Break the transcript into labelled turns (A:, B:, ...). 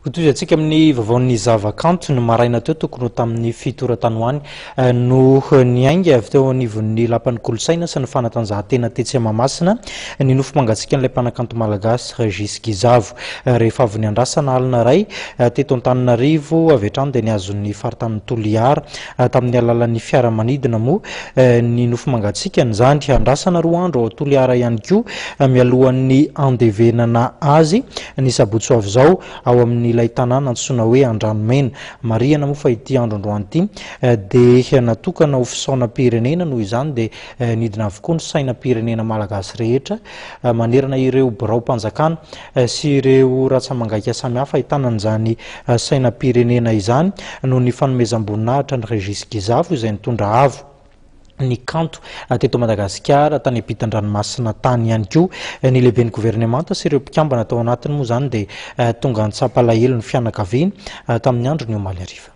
A: Hotohizantsika amin'ny vaovaon'ny zavakanto. Ny maraina teo tokony ho tamin'ny 7 ora tany ho any no niainga avy teo anivon'ny Lapan'ny Kolontsaina sy ny Fanatanjahantena tetsy Mahamasina ny nofo mangatsiakan'ilay mpanakanto malagasy Régis Gizavo. Rehefa avy niandrasana alina iray teto Antananarivo avy hatrany dia nihazo ny faritanin'i Toliara tamin'ny alalan'ny fiaramanidina moa ny nofo mangatsiakany izany. Andrasana 2 andro ao Toliara ihany koa mialohan'ny handevenana azy ny sabotsy ho avy izao ao amin'ilay tanàna antsoina hoe Andranomena. Marihana moa fa ity andro androany ity dia natokana ho fisaonam-pirenena, noho izany dia nidina avokoa ny sainam-pirenena malagasy rehetra manerana ireo biraom-panjakana sy ireo ratsa-mangaika samihafa ahitana an'izany sainam-pirenena izany noho ny fanomezam-boninahitra ny Régis Gizavo izay nitondra avo ny kanto teto Madagasikara tany ampitan-dranomasina tany ihany koa. Ny lehiben'ny governemanta sy ireo mpikambana tao anatiny moa izany dia tonga nitsapa alahelo ny fianakaviany tamin'ny andron'ny omaly hariva.